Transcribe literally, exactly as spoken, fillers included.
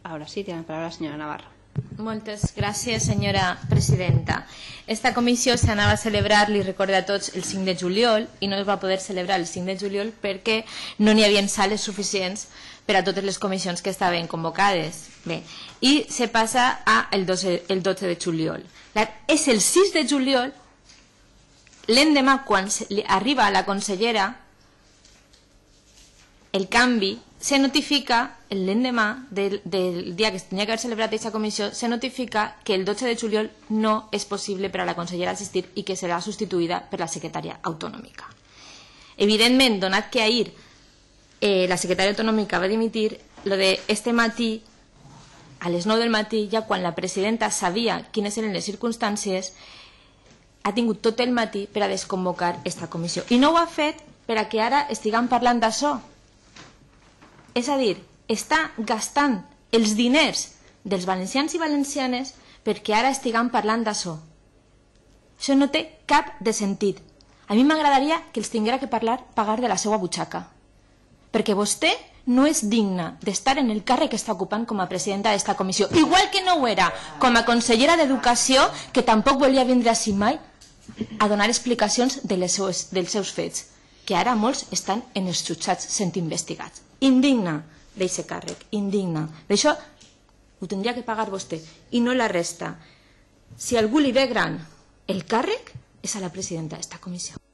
Ahora sí, tiene la palabra la señora Navarro. Moltes gràcies, senyora presidenta. Esta comissió s'anava a celebrar, li recordo a tots, el cinc de juliol i no es va poder celebrar el cinc de juliol perquè no n'hi havia sales suficients per a totes les comissions que estaven convocades. Bé, i se passa a el dotze de juliol. És el sis de juliol, l'endemà, quan arriba la consellera, el canvi se notifica, l'endemà del, del dia que es tenia que haver celebrat aquesta comissió, se notifica que el dotze de juliol no és possible per a la consellera assistir i que serà substituïda per la secretària autonòmica. Evidentment, donat que ahir eh, la secretària autonòmica va dimitir, lo de este matí, a les nou del matí, ja quan la presidenta sabia quines eren les circumstàncies, ha tingut tot el matí per a desconvocar aquesta comissió. I no ho ha fet per a que ara estiguem parlant d'això. És a dir, està gastant els diners dels valencians i valencianes perquè ara estiguem parlant d'això. Això no té cap de sentit. A mi m'agradaria que els tinguera que parlar pagar de la seva butxaca. Perquè vostè no és digna d'estar en el càrrec que està ocupant com a presidenta d'esta comissió. Igual que no ho era com a consellera d'Educació, que tampoc volia vindre així mai a donar explicacions de les seues, dels seus fets, que ara molts estan en els jutjats sent investigats. Indigna d'aquest càrrec, indigna. D'això ho tindria que pagar vostè i no la resta. Si algú li ve gran el càrrec, és a la presidenta d'esta comissió.